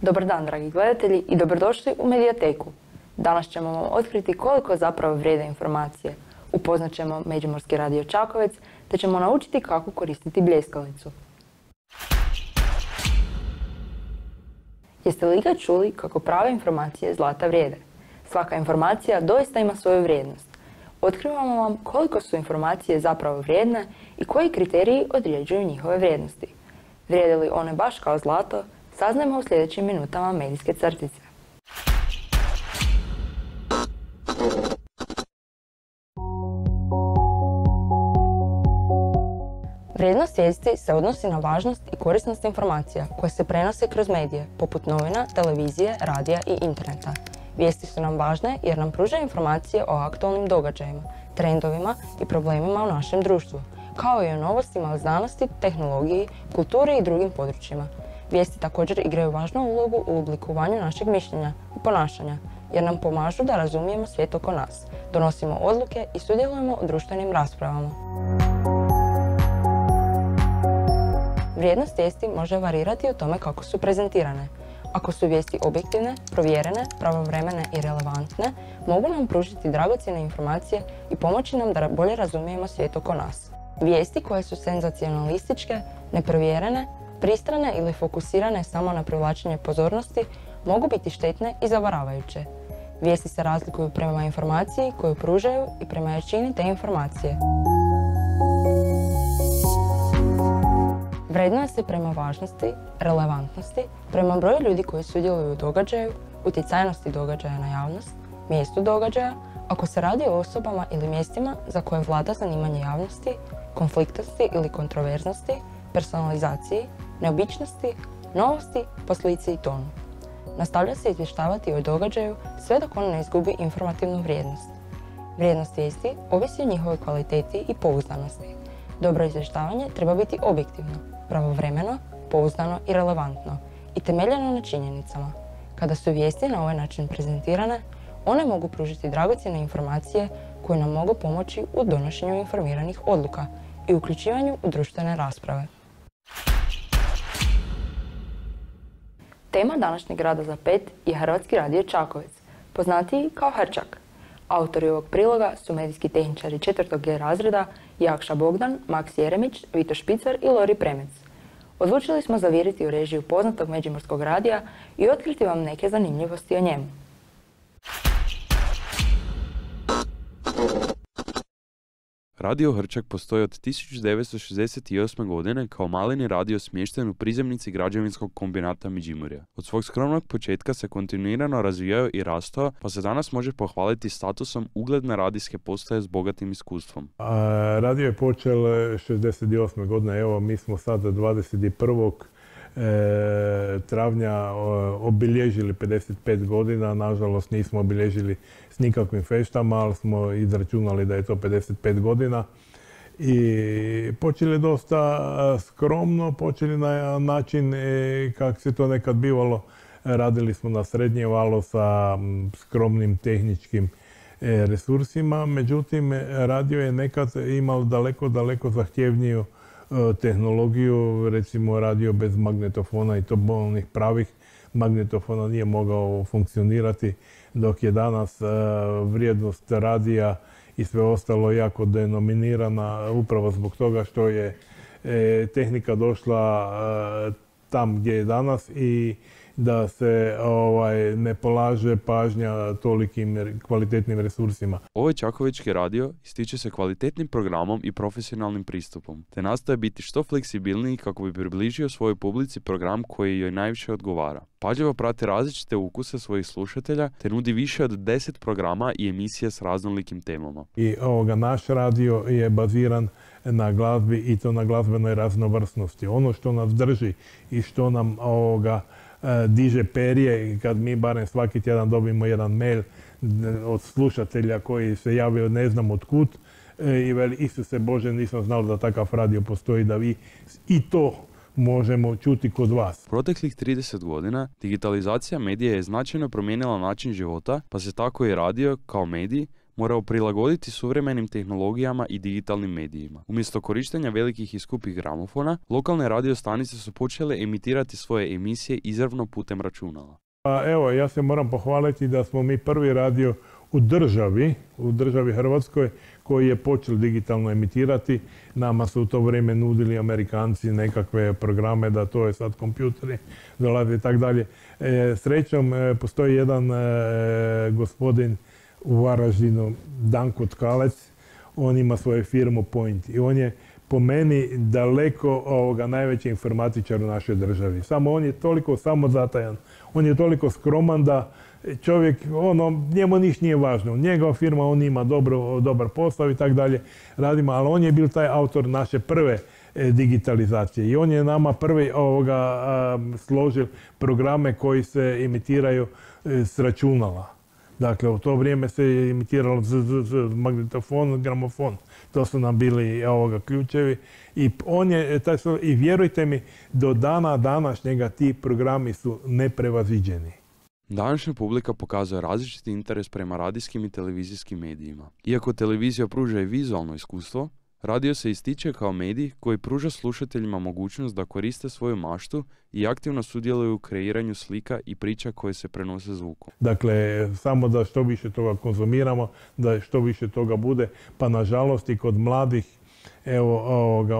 Dobar dan, dragi gledatelji, i dobrodošli u Medijateku. Danas ćemo vam otkriti koliko zapravo vrijede informacije. Upoznat ćemo Međimurski radio Čakovec, te ćemo naučiti kako koristiti bljeskalicu. Jeste li ikad čuli kako prave informacije zlata vrijede? Svaka informacija doista ima svoju vrijednost. Otkrivamo vam koliko su informacije zapravo vrijedne i koji kriteriji određuju njihove vrijednosti. Vrijede li one baš kao zlato, saznajmo u sljedećim minutama medijske crtice. Vrijednost vijesti se odnosi na važnost i korisnost informacija koje se prenose kroz medije, poput novina, televizije, radija i interneta. Vijesti su nam važne jer nam pružaju informacije o aktualnim događajima, trendovima i problemima u našem društvu, kao i o novostima o znanosti, tehnologiji, kulturi i drugim područjima. Vijesti također igraju važnu ulogu u oblikovanju našeg mišljenja i ponašanja, jer nam pomažu da razumijemo svijet oko nas, donosimo odluke i sudjelujemo u društvenim raspravama. Vrijednost vijesti može varirati o tome kako su prezentirane. Ako su vijesti objektivne, provjerene, pravovremene i relevantne, mogu nam pružiti dragocjene informacije i pomoći nam da bolje razumijemo svijet oko nas. Vijesti koje su senzacionalističke, neprovjerene, pristrane ili fokusirane samo na privlačenje pozornosti mogu biti štetne i zavaravajuće. Vijesti se razlikuju prema informaciji koju pružaju i prema jačini te informacije. Vrednuje se prema važnosti, relevantnosti, prema broju ljudi koji sudjeluju u događaju, utjecajnosti događaja na javnost, mjestu događaja, ako se radi o osobama ili mjestima za koje vlada zanimanje javnosti, konfliktnosti ili kontroverznosti, personalizaciji, neobičnosti, novosti, po slici i tonu. Nastavlja se izvještavati o događaju sve dok on ne izgubi informativnu vrijednost. Vrijednost vijesti ovisi o njihovoj kvaliteti i pouzdanosti. Dobro izvještavanje treba biti objektivno, pravovremeno, pouzdano i relevantno i temeljeno na činjenicama. Kada su vijesti na ovaj način prezentirane, one mogu pružiti dragocjene informacije koje nam mogu pomoći u donošenju informiranih odluka i uključivanju u društvene rasprave. Tema današnjeg Rada za 5 je Hrvatski radio Čakovec, poznatiji kao Hrčak. Autori ovog priloga su medijski tehničari 4. G razreda Jakša Bogdan, Maks Jeremić, Vito Špicar i Lori Premec. Odlučili smo zaviriti u režiju poznatog Međimurskog radija i otkriti vam neke zanimljivosti o njemu. Radio Hrčak postoji od 1968. godine kao maleni radio smješten u prizemnici građevinskog kombinata Međimurja. Od svog skromnog početka se kontinuirano razvijao i rastao, pa se danas može pohvaliti statusom ugledne radijske postaje s bogatim iskustvom. Radio je počeo 68. godine, evo mi smo sada 21. travnja obilježili 55 godina, nažalost nismo obilježili s nikakvim feštama, ali smo izračunali da je to 55 godina i počeli dosta skromno, počeli na način kako se to nekad bivalo, radili smo na srednje valo sa skromnim tehničkim resursima, međutim radio je nekad imao daleko zahtjevniju tehnologiju, recimo radio bez magnetofona i to onih pravih magnetofona nije mogao funkcionirati, dok je danas vrijednost radija i sve ostalo jako denominirana upravo zbog toga što je tehnika došla tam gdje je danas i da se ne polaže pažnja tolikim kvalitetnim resursima. Ovaj čakovečki radio ističe se kvalitetnim programom i profesionalnim pristupom, te nastoje biti što fleksibilniji kako bi približio svojoj publici program koji joj najviše odgovara. Pažljivo prati različite ukuse svojih slušatelja, te nudi više od 10 programa i emisija s raznolikim temama. I naš radio je baziran na glazbi i to na glazbenoj raznovrsnosti. Ono što nas drži i što nam diže perje, kad mi barem svaki tjedan dobimo jedan mail od slušatelja koji se javio ne znam od kud i veli Isuse Bože, nisam znao da takav radio postoji, da vi i to možemo čuti kod vas. Proteklih 30 godina digitalizacija medija je značajno promijenila način života, pa se tako i radio kao medij morao prilagoditi suvremenim tehnologijama i digitalnim medijima. Umjesto korištenja velikih i skupih gramofona, lokalne radio stanice su počele emitirati svoje emisije izravno putem računala. Pa evo, ja se moram pohvaliti da smo mi prvi radio u državi Hrvatskoj, koji je počeo digitalno emitirati. Nama su u to vrijeme nudili Amerikanci nekakve programe da to je sad kompjuteri dolaze i tako dalje. Srećom, postoji jedan gospodin u Varaždinu, Danko Tkalec, on ima svoju firmu Point i on je po meni daleko najveći informatičar u našoj državi. Samo on je toliko samozatajan, on je toliko skroman da čovjek, njemu ništa nije važno. Njegova firma, on ima dobar posao i tako dalje radimo, ali on je bil taj autor naše prve digitalizacije i on je nama prvi složil programe koji se emitiraju s računala. Dakle, u to vrijeme se emitiralo magnetofon, gramofon. To su nam bili ključevi. I vjerujte mi, do dana današnjega ti programi su neprevaziđeni. Današnja publika pokazuje različiti interes prema radijskim i televizijskim medijima. Iako televizija pruža i vizualno iskustvo, radio se ističe kao medij koji pruža slušateljima mogućnost da koriste svoju maštu i aktivno sudjeluju u kreiranju slika i priča koje se prenose zvukom. Dakle, samo da što više toga konzumiramo, da što više toga bude, pa nažalost i kod mladih,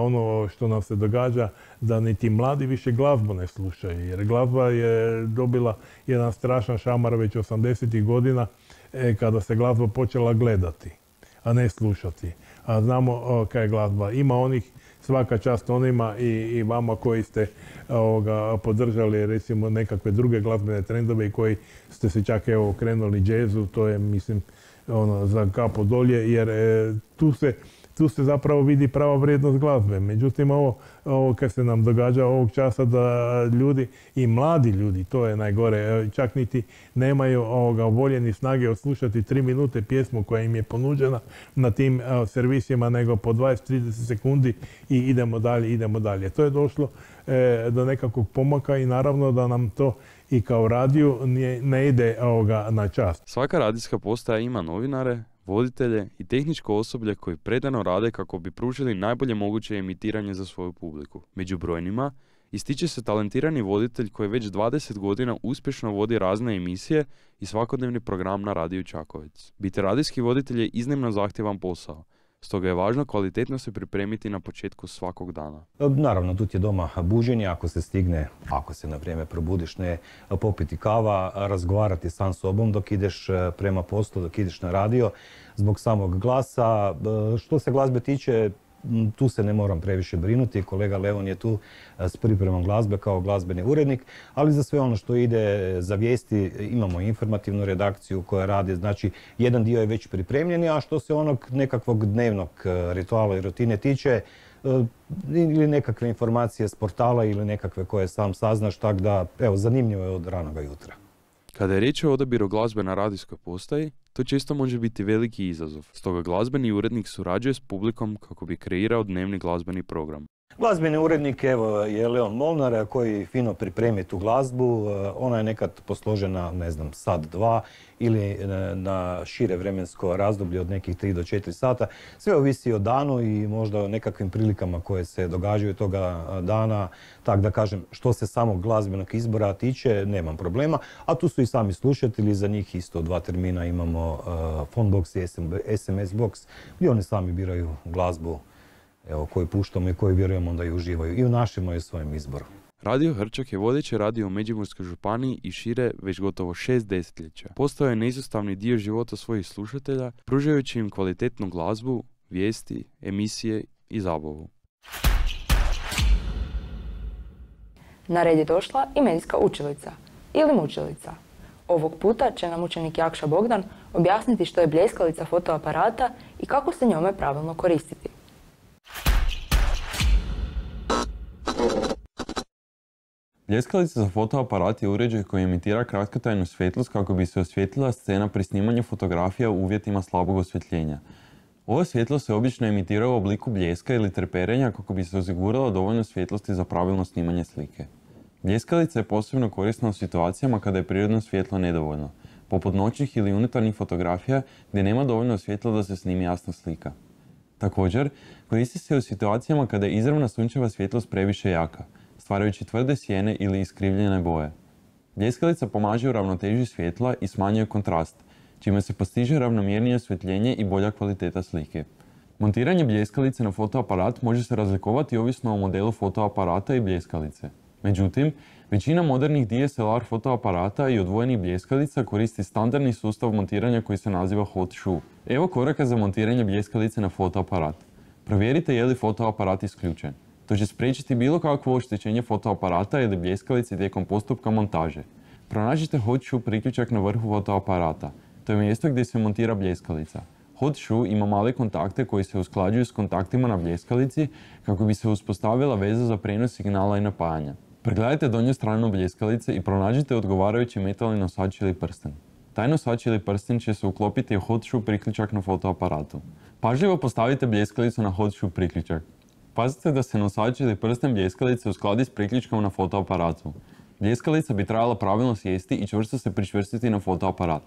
ono što nam se događa, da niti mladi više glazbu ne slušaju, jer glazba je dobila jedan strašan šamar već 80-ih godina kada se glazba počela gledati, a ne slušati. A znamo kaj je glazba. Ima onih, svaka čast onima i vama koji ste podržali recimo nekakve druge glazbene trendove i koji ste se čak okrenuli džezu, to je mislim za kapo dolje, jer tu se zapravo vidi prava vrijednost glazbe. Međutim, ovo kad se nam događa ovog časa da ljudi i mladi ljudi, to je najgore, čak niti nemaju volje ni snage odslušati 3 minute pjesmu koja im je ponuđena na tim servisima, nego po 20-30 sekundi i idemo dalje. To je došlo do nekakvog pomaka i naravno da nam to i kao radiju ne ide na čast. Svaka radijska postaja ima novinare, voditelje i tehničko osoblje koji predano rade kako bi pružili najbolje moguće emitiranje za svoju publiku. Među brojnima ističe se talentirani voditelj koji već 20 godina uspješno vodi razne emisije i svakodnevni program na radiju Čakovec. Biti radijski voditelj je iznimno zahtjevan posao, stoga je važno kvalitetno se pripremiti na početku svakog dana. Naravno, tu ti je doma buđenje, ako se stigne, ako se na vrijeme probudiš, ne popiti kava, razgovarati sam sobom dok ideš prema poslu, dok ideš na radio, zbog samog glasa. Što se glazbe tiče, tu se ne moram previše brinuti. Kolega Leon je tu s pripremom glazbe kao glazbeni urednik, ali za sve ono što ide za vijesti imamo informativnu redakciju koja radi, znači jedan dio je već pripremljen, a što se onog nekakvog dnevnog rituala i rutine tiče, ili nekakve informacije s portala ili nekakve koje sam saznaš, tako da, evo, zanimljivo je od ranoga jutra. Kada je riječ o odabiru glazbe na radijskoj postaji, to često može biti veliki izazov. Stoga glazbeni urednik surađuje s publikom kako bi kreirao dnevni glazbeni program. Glazbeni urednik je Leon Molnar koji fino pripremi tu glazbu. Ona je nekad posložena, ne znam, sat, dva ili na šire vremensko razdoblje od nekih 3 do 4 sata. Sve ovisi o danu i možda o nekakvim prilikama koje se događaju toga dana. Tako da kažem, što se samog glazbenog izbora tiče, nemam problema. A tu su i sami slušatelji, za njih isto 2 termina imamo phone box i SMS box, gdje oni sami biraju glazbu koju puštamo i koju vjerujemo da i uživaju i u našem i u svojem izboru. Radio Hrčak je vodeći radio u Međimurskoj županiji i šire već gotovo 6 desetljeća. Postao je neizostavni dio života svojih slušatelja, pružajući im kvalitetnu glazbu, vijesti, emisije i zabavu. Na red je došla i medijska učilica ili mučilica. Ovog puta će nam učenik Jakša Bogdan objasniti što je bljeskalica fotoaparata i kako se njome pravilno koristiti. Bljeskalica za fotoaparat je uređaj koji emitira kratkotrajnu svjetlost kako bi se osvijetlila scena pri snimanju fotografija u uvjetima slabog osvjetljenja. Ova svjetlost se obično emitira u obliku bljeska ili treperenja kako bi se osiguralo dovoljno svjetlosti za pravilno snimanje slike. Bljeskalica je posebno korisna u situacijama kada je prirodno svjetlo nedovoljno, poput noćnih ili unutarnjih fotografija gdje nema dovoljno svjetla da se snimi jasna slika. Također, koristi se u situacijama kada je izravna sunčeva svjetlost previše jaka, stvarajući tvrde sjene ili iskrivljene boje. Bljeskalica pomaže u ravnoteži svjetla i smanjuje kontrast, čime se postiže ravnomjernije osvjetljenje i bolja kvaliteta slike. Montiranje bljeskalice na fotoaparat može se razlikovati ovisno o modelu fotoaparata i bljeskalice. Međutim, većina modernih DSLR fotoaparata i odvojenih bljeskalica koristi standardni sustav montiranja koji se naziva hot shoe. Evo koraka za montiranje bljeskalice na fotoaparat. Provjerite je li fotoaparat isključen. To će spriječiti bilo kakvo oštećenje fotoaparata ili bljeskalice tijekom postupka montaže. Pronađite hot shoe priključak na vrhu fotoaparata. To je mjesto gdje se montira bljeskalica. Hot shoe ima male kontakte koji se usklađuju s kontaktima na bljeskalici kako bi se uspostavila veza za prijenos signala i napajanja. Pregledajte donju stranu bljeskalice i pronađite odgovarajući metalni nosač ili prsten. Taj nosač ili prsten će se uklopiti u hot shoe priključak na fotoaparatu. Pažljivo postavite bljeskalicu na hot shoe priključak. Pazite da se nosač ili prsten bljeskalice uskladi s priključkom na fotoaparatu. Bljeskalica bi trebala pravilno sjesti i čvrsto se pričvrstiti na fotoaparat.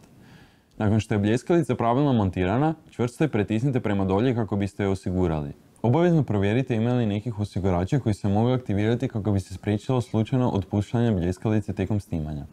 Nakon što je bljeskalica pravilno montirana, čvrsto je pritisnite prema dolje kako biste je osigurali. Obavezno provjerite ima li nekih osigurača koji se mogu aktivirati kako bi se spriječilo slučajno otpuštanje bljeskalice tijekom snimanja.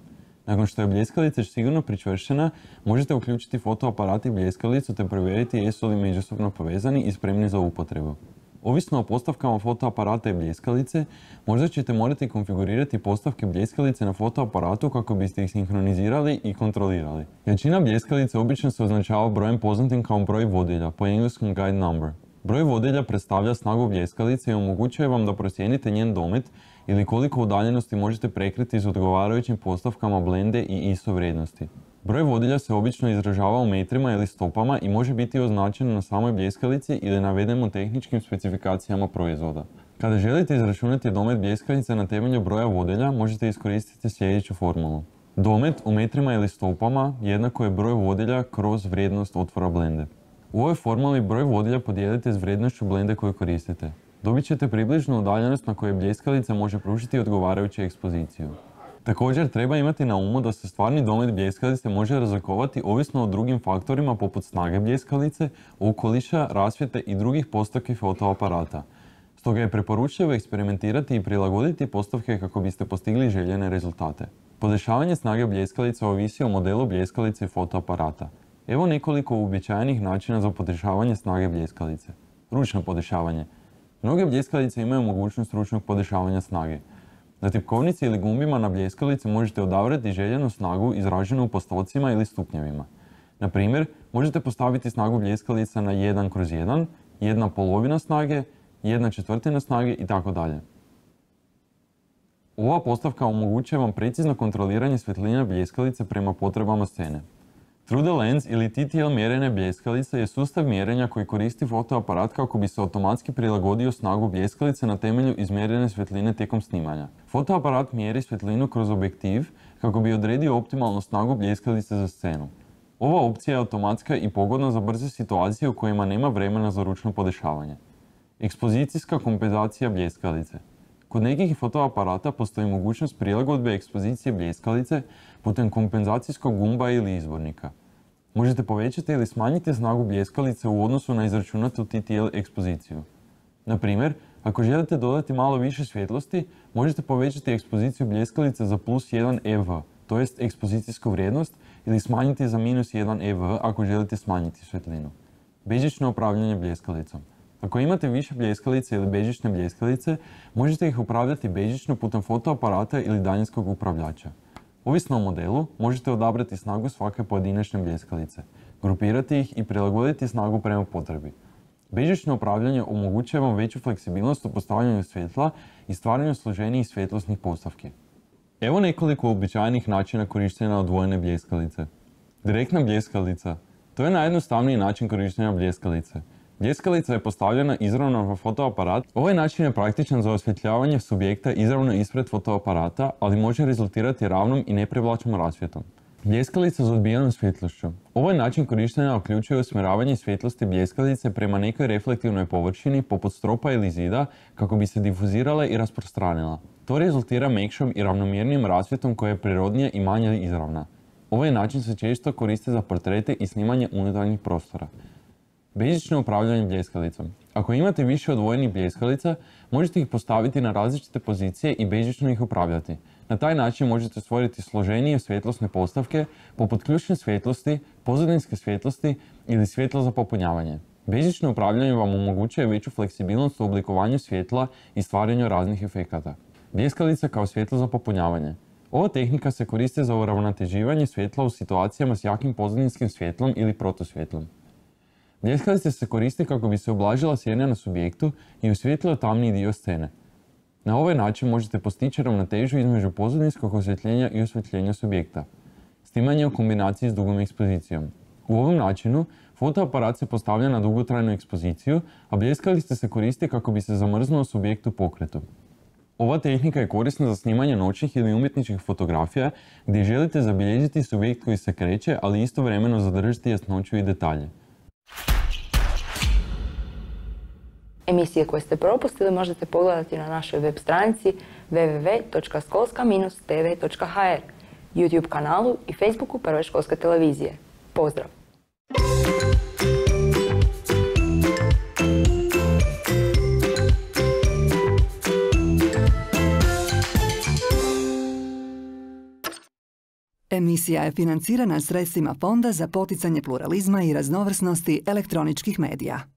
Nakon što je bljeskalica sigurno pričvršćena, možete uključiti fotoaparat i bljeskalicu te provjeriti jesu li međusobno povezani i spremni za upotrebu. Ovisno o postavkama fotoaparata i bljeskalice, možda ćete morati konfigurirati postavke bljeskalice na fotoaparatu kako biste ih sinkronizirali i kontrolirali. Jačina bljeskalice obično se označava brojem poznatim kao broj vodilja, po engleskom guide number. Broj vodilja predstavlja snagu bljeskalice i omogućuje vam da procijenite njen domet ili koliko udaljenosti možete prekriti s odgovarajućim postavkama blende i ISO vrijednosti. Broj vodilja se obično izražava u metrima ili stopama i može biti označen na samoj bljeskalici ili naveden u tehničkim specifikacijama proizvoda. Kada želite izračunati domet bljeskalice na temelju broja vodilja, možete iskoristiti sljedeću formulu. Domet u metrima ili stopama jednako je broj vodilja kroz vrijednost otvora blende. U ovoj formuli broj vodilja podijelite s vrijednošću blende koju koristite. Dobit ćete približnu udaljenost na kojoj bljeskalica može pružiti odgovarajuću ekspoziciju. Također treba imati na umu da se stvarni domet bljeskalice može razlikovati ovisno o drugim faktorima poput snage bljeskalice, okoliša, rasvjete i drugih postavki fotoaparata. Stoga je preporučljivo eksperimentirati i prilagoditi postavke kako biste postigli željene rezultate. Podešavanje snage bljeskalice ovisi o modelu bljeskalice i fotoaparata. Evo nekoliko uobičajenih načina za podešavanje snage bljeskalice. Ručno podešavanje. Mnoge bljeskalice imaju mogućnost ručnog podešavanja snage. Na tipkovnici ili gumbima na bljeskalici možete odabrati željenu snagu izraženu u postocima ili stupnjevima. Na primjer, možete postaviti snagu bljeskalica na 1/1, 1/2 snage, 1/4 snage itd. Ova postavka omogućuje vam precizno kontroliranje svjetline bljeskalice prema potrebama scene. True the lens ili TTL mjerenje bljeskalice je sustav mjerenja koji koristi fotoaparat kako bi se automatski prilagodio snagu bljeskalice na temelju izmjerene svjetline tijekom snimanja. Fotoaparat mjeri svjetlinu kroz objektiv kako bi odredio optimalnu snagu bljeskalice za scenu. Ova opcija je automatska i pogodna za brze situacije u kojima nema vremena za ručno podešavanje. Ekspozicijska kompenzacija bljeskalice. Kod nekih fotoaparata postoji mogućnost prilagodbe ekspozicije bljeskalice putem kompenzacijskog gumba ili izvornika. Možete povećati ili smanjiti snagu bljeskalice u odnosu na izračunatu TTL ekspoziciju. Na primjer, ako želite dodati malo više svjetlosti, možete povećati ekspoziciju bljeskalice za +1 EV, to jest ekspozicijsku vrijednost, ili smanjiti za -1 EV ako želite smanjiti svjetlinu. Bežično upravljanje bljeskalicom. Ako imate više bljeskalice ili bežične bljeskalice, možete ih upravljati bežično putem fotoaparata ili daljinskog upravljača. Ovisno o modelu, možete odabrati snagu svake pojedinačne bljeskalice, grupirati ih i prilagoditi snagu prema potrebi. Bežično upravljanje omogućuje vam veću fleksibilnost u postavljanju svjetla i stvaranju složenijih svjetlosnih postavki. Evo nekoliko uobičajenih načina korištenja odvojene bljeskalice. Direktna bljeskalica. To je najjednostavniji način korištenja bljeskalice. Bljeskalica je postavljena izravno na fotoaparat. Ovaj način je praktičan za osvjetljavanje subjekta izravno ispred fotoaparata, ali može rezultirati ravnom i neprivlačnom rasvjetom. Bljeskalica s odbijenom svjetlošću. Ovaj način korištenja uključuje usmjeravanje svjetlosti bljeskalice prema nekoj reflektivnoj površini poput stropa ili zida kako bi se difuzirala i rasprostranila. To rezultira mekšom i ravnomjernim rasvjetom koja je prirodnija i manje izravna. Ovaj način se često koristi za portrete i snimanje unutarnjih prostora. Bežično upravljanje bljeskalicom. Ako imate više odvojenih bljeskalica, možete ih postaviti na različite pozicije i bežično ih upravljati. Na taj način možete stvoriti složenije svjetlosne postavke poput ključne svjetlosti, pozadinske svjetlosti ili svjetla za popunjavanje. Bežično upravljanje vam omogućuje veću fleksibilnost u oblikovanju svjetla i stvaranju raznih efekata. Bljeskalica kao svjetlo za popunjavanje. Ova tehnika se koristi za uravnoteživanje svjetla u situacijama s jakim pozadinskim svjetlom ili protusvjetlom. Bljeskalica se koristi kako bi se ublažila sjena na subjektu i osvijetlio tamniji dio scene. Na ovaj način možete postići ravnotežu između pozadinskog osvjetljenja i osvjetljenja subjekta. Snimanje u kombinaciji s dugom ekspozicijom. U ovom načinu fotoaparat se postavlja na dugotrajnu ekspoziciju, a bljeskalica se koristi kako bi se zamrznuo subjekt u pokretu. Ova tehnika je korisna za snimanje noćnih ili umjetničkih fotografija gdje želite zabilježiti subjekt koji se kreće, ali istovremeno zadržati jasnoću i detalje. Emisije koje ste propustili možete pogledati na našoj web stranici www.školska-tv.hr, YouTube kanalu i Facebooku Prve školske televizije. Pozdrav! Emisija je financirana sredstvima Fonda za poticanje pluralizma i raznovrsnosti elektroničkih medija.